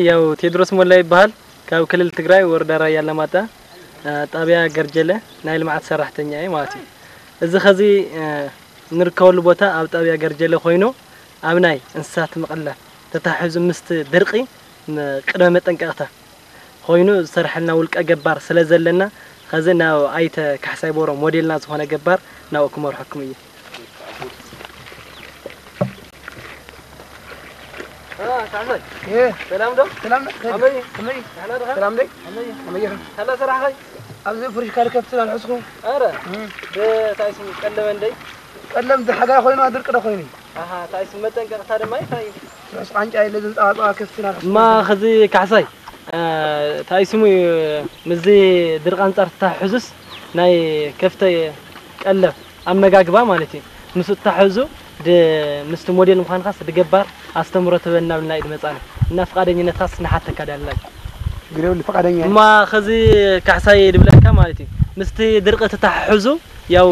ያው ቴድሮስ ሞላ ይበሃል። ካብ ክልል ትግራይ ወረዳ ራያ ኣላማጣ፣ እ፣ ጣብያ ገርጀለ ናይ ልምዓት ሰራሕተኛ እየ ማለት እዩ። እዚ ኸዚ፣ እ፣ ንርከበሉ ቦታ ኣብ ጣብያ ገርጀለ ኮይኑ ኣብ ናይ እንስሳት ምቕላብ ተታሒዙ ምስቲ ድርቂ ም-፣ ቅድመ መጠንቀቕታ ኮይኑ ዝሰርሐልና ውልቀ ገባር ስለ ዘለና ኸዚ ናብ ኣይተ ካሕሳይ ቦሮ ሞዴልና ዝኾነ ገባር ናብኡ ክመርሐኩም እዩ። አ፣ ካሕሳይ። እ። ሰላም ዶ? ሰላም ዶ? ከመይ? ከመይ? ደህና ዲኻ? ሰላም ደይ? ከመይ? ከመይ ኢኻ? ካላ ሰራሕኸይ? ኣብዚ ፍርሽ ካልእ ከብቲ ኣልሐስኩ። ኣረ፣ እ። ደ-፣ ታይ ስሙ ቀለበ እንደይ? ቀለም ሓጋይ ኮይኑ ድርቂ ዶ ኮይኑ? ኣሃ፣ ታይ ስሙ መጠንቀቕታ ድማ እዩ፣ ታይ እዩ? ርሑስ ቃንጫ የለ፣ ዝንጣዋጣዋ ከብቲ ኣልሐስኩ። እማ ኸዚ ካሕሳይ፣ እ፣ ታይ ስሙ እዩ፣ ምስዚ ድርቂ ኣንጻር ተታሕዙስ ናይ ከፍተይ ቀለብ ኣመጋግባ ማለት እዩ። ምስ እተታሕዙ ድ-፣ ምስቲ ሞዴል ምዃንካስ ድገባር ኣስተምሮ ትበና ብልና እዩ ድመጻና። እና ፍቓደኝነትካስ ንሓተካ ዳላይ። ግደውሊ ፍቓደኛ እየ። እማ ኸዚ ካሕሳይ ድብለካ ማለት እዩ። ምስቲ ድርቂ ተታሕዙ ያው፣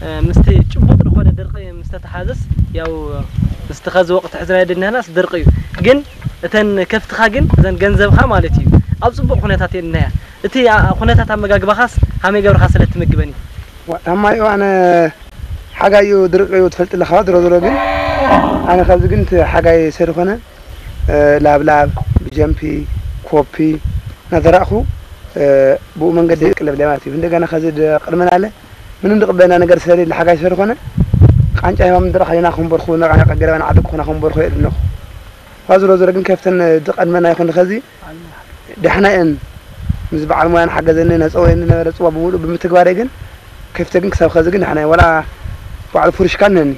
እ፣ ምስቲ ጭቡጥ ዝኾነ ድርቂ ምስ ተተሓዘስ ያው ምስቲ ኸዚ ወቕቲ ሕዝና የድንህናስ ድርቂ እዩ። ግን እተን ከፍትኻ ግን እዘን ገንዘብኻ ማለት እዩ ኣብ ጽቡቕ ኩነታት የድንያ። እቲ ኣ-፣ ኩነታት ኣመጋግባኻስ ሃመይ ገብርኻ ስለ ትምግበን እዩ? ዋ፣ ታማይ እዋን ሓጋይ እዩ፣ ድርቂ እዩ ትፈልጥ ኣለኻ። ድሮ ድሮ ግን ኣነ ካብዚ ግን እቲ ሓጋይ ሰሪ ኮነ፣ እ፣ ላብላብ፣ ብጀምፒ፣ ኮፒ እናዘራእኹ፣ እ፣ ብኡ መንገዲ ቅለብ ማለት እዩ። እንደገና ከዚ ድ-፣ ቅድመና ኣለ ምንም ድቕበና ነገር ሰሪ ሓጋይ ሰሪ ኮነ፣ ቃንጫ ሂባም ድረኻ ኢና ክንበርኹ፣ ነቃ ነቃ ገረባን ዓደግኩና ክንበርኹ የድነኹ። ዋ ዝሮ ዝሮ ግን ከፍተን ድቐድመና ይኹን ኸዚ ደሕና እየን። ምስ በዓል ሞያ ንሓገዘኒ ነጸወየኒ ነበረ ጽዋ ብምሉእ ብምትግባረይ ግን ከፍተ ግን ክሳብ ኸዚ ግን ደሕና እየን። ወላ በዓል ፍሩሽካ እነኒ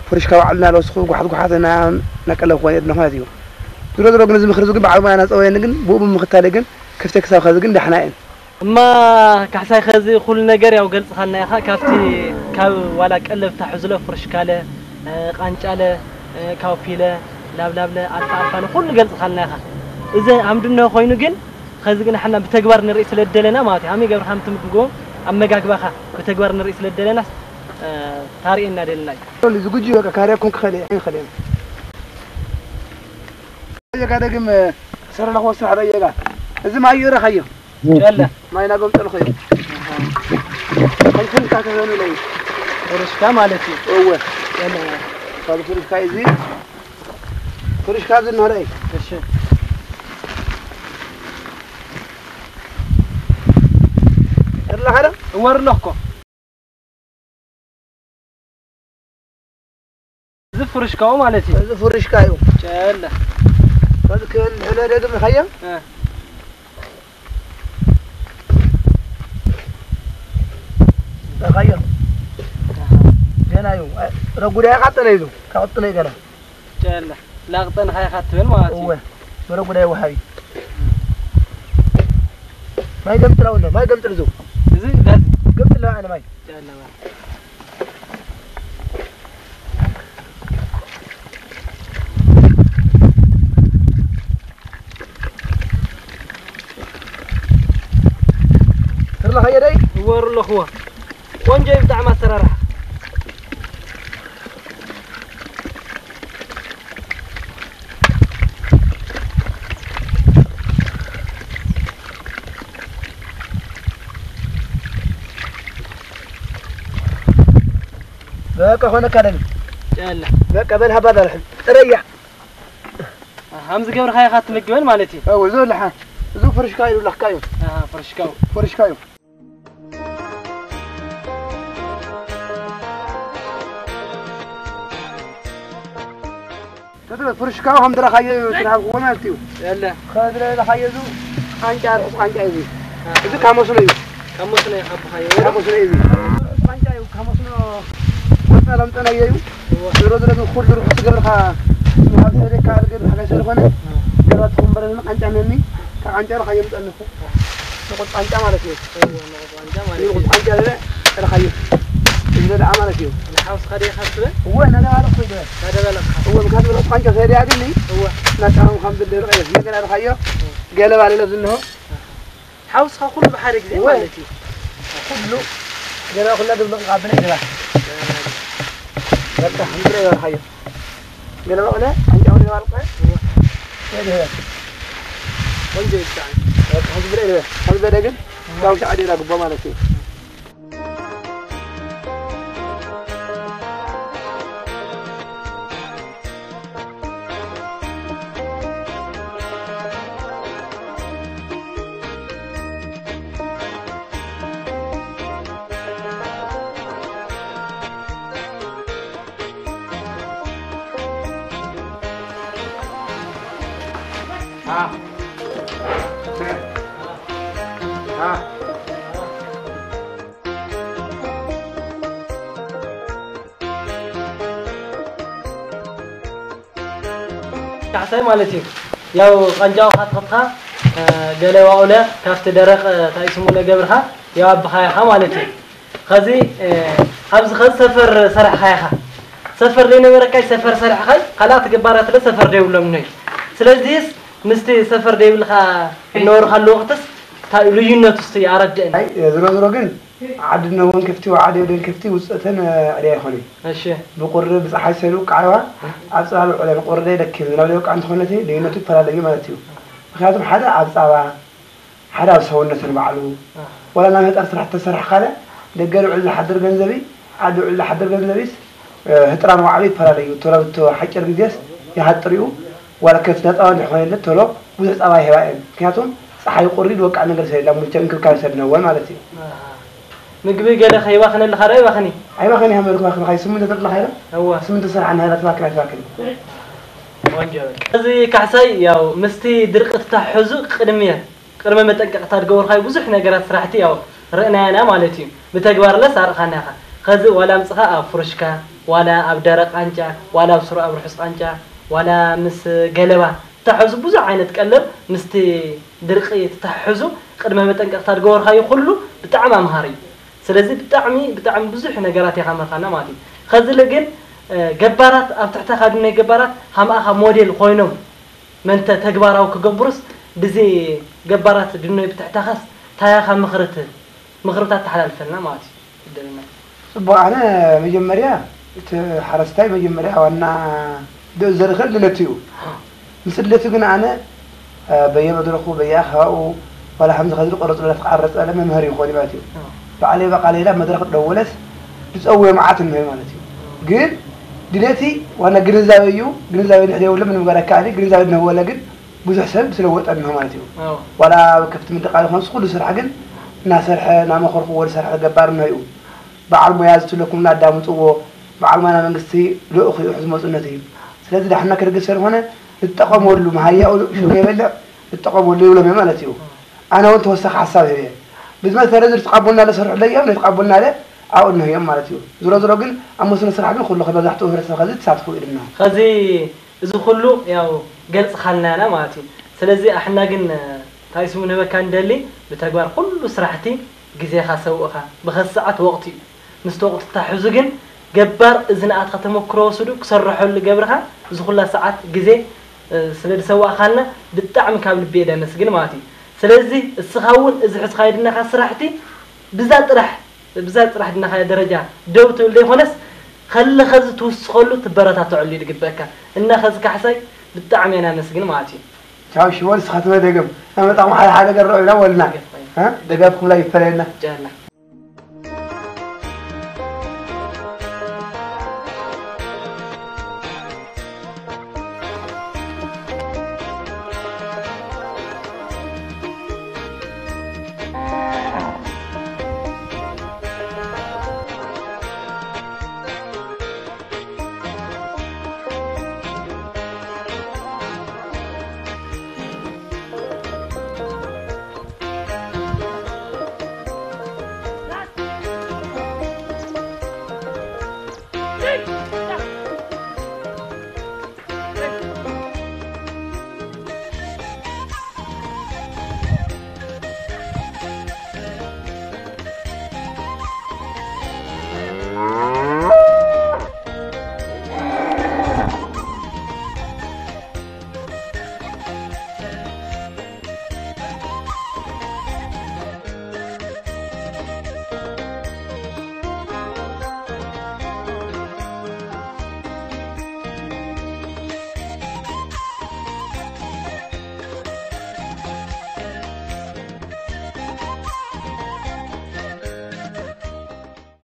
ፍሩሽካ ባዕልና ለወስኹ ጓሓት ጓሓት እና ነቀለብኩ እየ ድነኹ ማለት እዩ። ዝሮ ዝሮ ግን እዚ ምኽሪ እዚ ግን በዓል ሞያ ነጸወየኒ ግን ብኡ ብምኽታለይ ግን ከፍተ ክሳብ ኸዚ ግን ደሕና እየን። እማ ካሕሳይ ኸዚ ኩሉ ነገር ያው ገልጽኻልና ኢኻ። ካብቲ ካብ ዋላ ቀለብ ታሕዝሎ ፍርሽካለ፣ እ፣ ቃንጫለ፣ እ፣ ካውፒለ፣ ላብላብለ፣ ኣልፋ ኣልፋለ ኩሉ ገልጽኻልና ኢኻ። እዚ ኣምድነ ኮይኑ ግን ኸዚ ግን ሓና ብተግባር ንርኢ ስለ ደለና ማለት እዩ። ሃመይ ገብርካ ምትምግቦ ኣመጋግባኻ ብተግባር ንርኢ ስለ ደለናስ፣ እ፣ ታርእየና ደለና እዩ። ዝጉጂ በቃ ካርያ ኮንክ ኸለ፣ ዓይን ኸለ። የጋ ደግም ሰረላ ክወስድ ሓደ የጋ። እዚ ማይ እዩ ረኻዮ። ጨለ። ማይ ናጎም ጠልኾ እዩ። ከንፈን ካተበኑ ለይ። ፍርሽካ ማለት እዩ። እወ። ጨለ። ካብ ፍርሽካ እዚ። ፍርሽካ እዚ ንኸረይ። እሺ። እርላ ሓደ? እወር ኣለኩ። እዚ ፍርሽካው ማለት እዩ። እዚ ፍርሽካ እዩ። ጨለ። ከዚ ክብል ሕለ ደግም ኸየ? እ። ኸየ? ገና እዩ። ረጉዳይ ካጠነ እዩ። ካወጥነ ገና። ጨለ። ላቅጠን ኸየ ካትበል ማለት እዩ። እወ። ረጉዳይ ወሃቢ። ማይ ገምጥላው እንዶ፣ ማይ ገምጥል ዙ። እዚ ዳዝ። ገምጥላው ኣነ ማይ። ጨለ ማይ። ትርላ ኸየደይ? እወሩ ኣለኽዎ። ቆንጆ እዩ ብጣዕሚ ኣሰራርሓ። በቃ ኾነካ ደም። ጨለ። በቃ በል ሃባ ዳርሕም። ጥረያ። ኣሃ፣ ሃምዚ ገብርኻ ኢኻ ትምግበን ማለት እዩ። እው፣ እዚ ለሓ። እዚ ፍርሽካ እዩ ለኽካ እዩ። ኣሃ፣ ፍርሽካው። ፍርሽካ እዩ። ተድረ ፍርሽካ ከም ድረኻዮ እዩ፣ ትረሃብዎ ማለት እዩ። የለ። ከድረ ለኻዮ እዚ ቃንጫ፣ ርሑስ ቃንጫ እዩ። ኣሃ። እዚ ካብ መስኖ እዩ። ካብ መስኖ እዩ ካብ ብኻዮ። ካብ መስኖ እዩ። ቃንጫ እዩ፣ ካብ መስኖ ወጣ ለምጠናዮ እዩ። እወ። ዞሮ ዞሮ ግን ኩሉ ርሑስ ገብርኻ፣ ካብ ሰደካ ልገብር ሓጋይ ስለኾነ፣ እወ። ገራት ትኹምበረኒ ቃንጫ ነኒ፣ ካብ ቃንጫ ለኻዮ ምጠንኹ። ንቑጥ ቃንጫ ማለት እዩ። እወ፣ ንቑጥ ቃንጫ ማለት እዩ። ንቑጥ ቃንጫ ለለ፣ ለኻዮ። እዚ ደኣ ማለት እዩ። ንሓውስኻ ዲኻ ትብል? እወ፣ እናደባለኹ ይበል። እናደባለኻ። እወ፣ ምክንያቱ ንቑጥ ቃንጫ ሰደያ ግን፣ እወ። እናጣዕሙ ከም ዝደርቕ እዩ። ነገር ለኻዮ፣ እወ። ገለባ ለለ ዝንሆ። ሓውስኻ ኩሉ ብሓደ ግዜ እወ። ማለት እዩ። ኩሉ ገለ ኩላ ድብልቕ ካብ ብናይ ገባ። በቃ፣ እንድረ ይበልሓዮ። ገለ በቕለ፣ ኣንጫ ወደ ባልቀ። እወ። ወደ ቆንጆ ይብቃ። ከምዚ ብለ ከምዚ በለ ግን ያው ሻዕዲ ራግቦ ማለት እዩ። ካሕሳይ ማለት እዩ። ያው ቃንጫው ካትኸትኻ ገለ ዋኡለ ካብቲ ደረቕ ታይስሙ ለገብርኻ ያው ኣባኻያኻ ማለት እዩ። ኸዚ ኣብዚ ኸዚ ሰፈር ሰራሕኻ ኢኻ። ሰፈር ዘይነበረካይ ሰፈር ሰራሕኻይ ካልኣት ገባራት ለ ሰፈር ደይብሎም ነይ። ስለዚህስ ምስቲ ሰፈር ደይብልካ እነበርካሉ ወቕትስ እንታይ እዩ ልዩነቱ እስቲ ኣረድእን። ኣይ ዝሮ ዝሮ ግን ዓዲ ነወን ከፍቲ ወዓዲ ወደን ከፍቲ ውፅእተን ዕድያ ይኾነ። እሺ። ብቁሪ ብፀሓይ ሰሉ ቃዕዋ ኣብ ፀባብ ዕለን ቁሪ ደኪም ዝናብ ደቂ እንተኾነት ልዩነቱ ይፈላለዩ ማለት እዩ። ምክንያቱም ሓደ ኣብ ፃባ ሓደ ኣብ ሰውነትን ባዕሉ ወላ ናብ ህጣር ስራሕ ተሰርሕ ካለ ደገ ልውዕል ዝሓድር ገንዘቢ ዓዲ ውዕል ዝሓድር ገንዘቢስ ህጥራን ዋዕሉ ይፈላለዩ። ቶሎ ብቶ ሓጭር ግዜስ ይሃጥር እዩ። ዋላ ከብቲ ናፃዋ እንድሕኾነ ቶሎ ብዙሕ ፃባ ይህባ እየን። ምክንያቱም ፀሓይ ቁሪ ዝወቃዕ ነገር ሰለ ሙልቸ እንክብካብ ሰለ ነወን ማለት እዩ። ምግቢ ገለ ከይባኽነልኻ ዶ ይባኽኒ? ኣይባኽን እያ መልኩ ባኽን ኻይ ስምንተ ተጥላ ኻይላ እዋ ስምንተ ስራሕ ናይላ ትባክን ኣይትባክን። ቆንጆ በል። እዚ ካሕሳይ ያው ምስቲ ድርቂ ተታሕዙ ቅድምየት ቅድመ መጠንቀቕታ ዝገበርካዮ ብዙሕ ነገራት ስራሕቲ ያው ርኢናያና ማለት እዩ። ብተግባር ለስ ኣርኢኻና ኢኻ። ኸዚ ዋላ ኣምፅኻ ኣብ ፍሩሽካ ዋላ ኣብ ደረቕ ቃንጫ ዋላ ኣብ ስሩ ኣብ ርሑስ ቃንጫ ዋላ ምስ ገለባ ተታሕዙ ብዙሕ ዓይነት ቀለብ ምስቲ ድርቂ ተታሕዙ ቅድመ መጠንቀቕታ ዝገበርካዮ ኩሉ ብጣዕሚ ኣምሃሪ እዩ። ስለዚ ብጣዕሚ ብጣዕሚ ብዙሕ ነገራት ኢኻ መርኻና ማለት እዩ። ኸዚ ለ ግን ገባራት ኣብ ትሕተኻ ድነይ ገባራት ሃምኣኻ ሞዴል ኮይኖም መንተ ተግባራዊ ክገብሩስ ብዚ ገባራት ድኖይ ብትሕታኸስ ታያኻ ምኽርት ምኽርታት ተሓላልፈልና ማለት እዩ። ይደልና። ጽቡቕ ኣነ መጀመርያ እቲ ሓረስታይ መጀመርያ ዋና ደ- ዘርኸል ድለቱ እዩ። ምስ ድለቱ ግን ኣነ በየመድረኹ በየኣኸባኡ ዋላ ከምዚ ከዚ ቆረጽ ብለት ክዓረጸ ለመምህር ይኾን ማለት እዩ። ባዕለይ በቃ ሌላ መድረኽ ደወለስ ዝጸውዮ መዓት እንሆ ማለት እዩ። ግን ድሌቲ ዋና ግንዛበ እዩ። ግንዛበ ንሕደ የብሎ ምንም ገር ኣካኣሊ ግንዛበ እንህወለ ግን ብዙሕ ሰብ ስለወጠ እንሆ ማለት እዩ። ዋላ ኣብ ከፍቲ ምድቃ ዝኾንስ ኩሉ ስራሕ ግን እናሰርሐ እናመኸርኩ ወደ ሰርሐ ገባር እንሆ እዩ። በዓል ሞያ ዝትለኩም እናዳምፅዎ በዓል ሞያ መንግስቲ ልኡኽ እዩ ዝመፁነት እዩ። ስለዚ ዳሕና ክርግስ ስለዝኾነ ንጠቐመሉ መሃያኡ ሽሙ የበልዕ ንጠቐመሉ ይብሎም እዮም ማለት እዩ። ኣነ እውን ተወሳኺ ሓሳብ ህብ እየ። ብዝመሰለ እዚ ዝትቃቡልና ለሰርሑ ለዮም ነትቃቡልና ለ ኣብኡ እንህዮም ማለት እዩ። ዝሮ ዝሮ ግን ኣብ መስኖ ስራሕ ግን ኩሉ ከመዛሕትኡ ህብረተሰብ ከዚ ተሳትፉ እዩ ድማ ከዚ እዚ ኩሉ ያው ገልጽኻልና ያና ማለት እዩ። ስለዚ ኣሕና ግን እንታይ ስሙ ንህበካ ንደሊ ብተግባር ኩሉ ስራሕቲ ግዜኻ ሰውእኻ ብኸዚ ሰዓት ወቕቲ እዩ። ምስቲ ወቕቲ ተታሕዙ ግን ገባር እዚ ንኣትኻ ተመክሮ ወስዱ ክሰርሐሉ ገብርኻ እዚ ኩላ ሰዓት ግዜ ስለ ዝሰዋእኻልና ብጣዕሚ ካብ ልቢ እየ ደመስግን ማለት እዩ። ስለዚ እስኻ እውን እዚ ሕዝኻዮ ድናኻ ስራሕቲ ብዛ ጥራሕ ብዛ ጥራሕ ድናኻዮ ደረጃ ደው ትብል ዘይኮነስ ከለኸ እዚ ትውስኸሉ ትበረታተዐሉ እዩ ዝግበእካ እና ኸዚ ካሕሳይ ብጣዕሚ እየ ናመስግን ማለት እዩ። ቻው ሽወል ስኻትመ ደገም ኣመጣኹም ሓደ ሓደ ገር ረዑ ኢና ወልና ደገፍኩም ላይ ይፈለየና ጃላ